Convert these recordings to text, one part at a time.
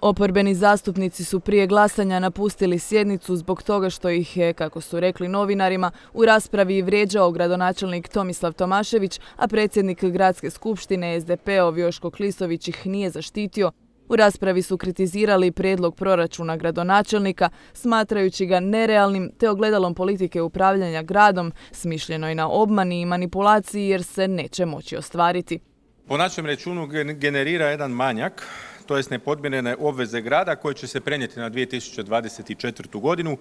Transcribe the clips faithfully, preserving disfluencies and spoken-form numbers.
Oporbeni zastupnici su prije glasanja napustili sjednicu zbog toga što ih je, kako su rekli novinarima, u raspravi vrijeđao gradonačelnik Tomislav Tomašević, a predsjednik Gradske skupštine S D P-ov Joško Klisović ih nije zaštitio. U raspravi su kritizirali prijedlog proračuna gradonačelnika, smatrajući ga nerealnim te ogledalom politike upravljanja gradom, smišljenoj na obmani i manipulaciji jer se neće moći ostvariti. Po našem računu generira jedan manjak, to jest nepodmirene obveze grada koje će se prenijeti na dvije tisuće dvadeset četvrtu. godinu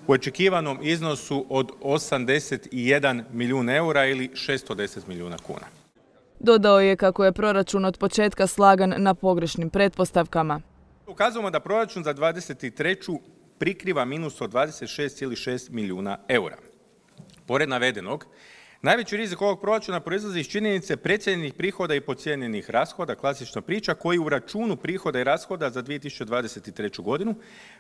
u očekivanom iznosu od osamdeset jedan milijun eura ili šesto deset milijuna kuna. Dodao je kako je proračun od početka slagan na pogrešnim pretpostavkama. Ukazujemo da proračun za dvadeset treću prikriva minus od dvadeset šest zarez šest milijuna eura. Pored navedenog, najveći rizik ovog proračuna proizlazi iz činjenice precijenjenih prihoda i podcijenjenih rashoda, klasična priča, koji u računu prihoda i rashoda za dvije tisuće dvadeset treću. godinu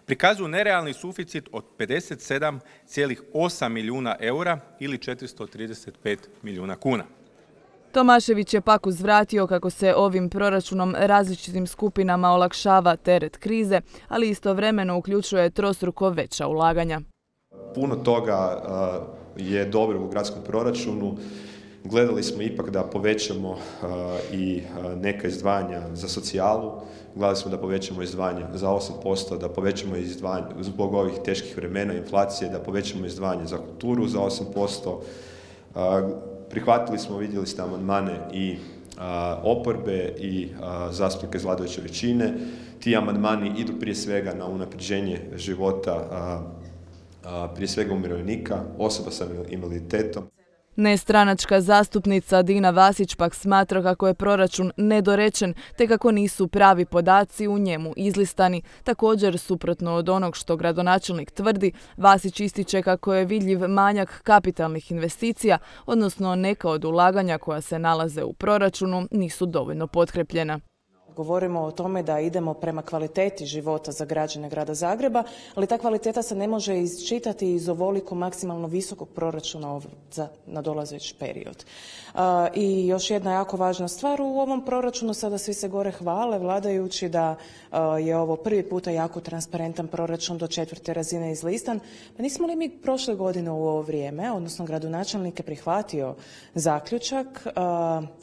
prikazuju nerealni suficit od pedeset sedam zarez osam milijuna eura ili četiristo trideset pet milijuna kuna. Tomašević je pak uzvratio kako se ovim proračunom različitim skupinama olakšava teret krize, ali istovremeno uključuje trostruko veća ulaganja. Puno toga je dobro u gradskom proračunu. Gledali smo ipak da povećamo i neka izdvajanja za socijalu. Gledali smo da povećamo izdvajanja za osam posto, da povećamo izdvajanja zbog ovih teških vremena, inflacije, da povećamo izdvajanje za kulturu za osam posto. Prihvatili smo, vidjeli ste amandmane i a, oporbe i a, zastupnika iz vladajuće većine. Ti amandmani idu prije svega na unapređenje života a, a, prije svega umirovljenika, osoba sa invaliditetom. Nestranačka zastupnica Dina Vasić pak smatra kako je proračun nedorečen te kako nisu pravi podaci u njemu izlistani. Također, suprotno od onog što gradonačelnik tvrdi, Vasić ističe kako je vidljiv manjak kapitalnih investicija, odnosno neka od ulaganja koja se nalaze u proračunu nisu dovoljno potkrepljena. Govorimo o tome da idemo prema kvaliteti života za građane grada Zagreba, ali ta kvaliteta se ne može isčitati iz ovoliko maksimalno visokog proračuna za nadolazeći period. I još jedna jako važna stvar u ovom proračunu, sada svi se gore hvale vladajući da je ovo prvi puta jako transparentan proračun do četvrte razine izlistan. Pa nismo li mi prošle godine u ovo vrijeme, odnosno gradonačelnik je prihvatio zaključak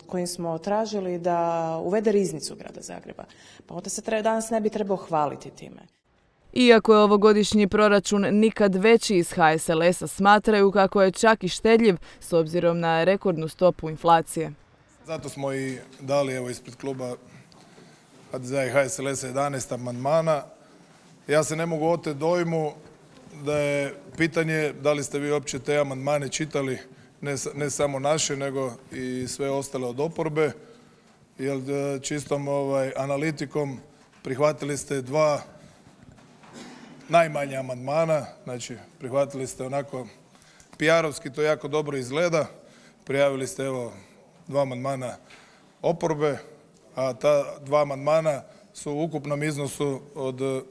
kojim smo tražili da uvede riznicu grada Zagreba. Pa onda se treba, danas ne bi trebao hvaliti time. Iako je ovogodišnji proračun nikad veći, iz H S L S-a smatraju kako je čak i štedljiv s obzirom na rekordnu stopu inflacije. Zato smo i dali evo ispred kluba H D Z-a i H S L S-a jedanaest amandmana. Ja se ne mogu oteti dojmu da je pitanje da li ste vi uopće te amandmane čitali, ne, ne samo naše, nego i sve ostale od oporbe. Jer čistom ovaj, analitikom prihvatili ste dva najmanja amandmana, znači prihvatili ste onako P R-ovski, to jako dobro izgleda, prijavili ste evo dva amandmana oporbe, a ta dva amandmana su u ukupnom iznosu od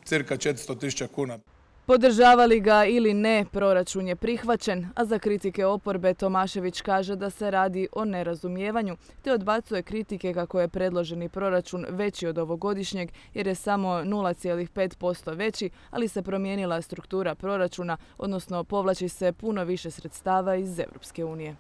cirka četiristo tisuća kuna. Podržavali ga ili ne, proračun je prihvaćen, a za kritike oporbe Tomašević kaže da se radi o nerazumijevanju, te odbacuje kritike kako je predloženi proračun veći od ovogodišnjeg jer je samo nula zarez pet posto veći, ali se promijenila struktura proračuna, odnosno povlači se puno više sredstava iz Europske unije.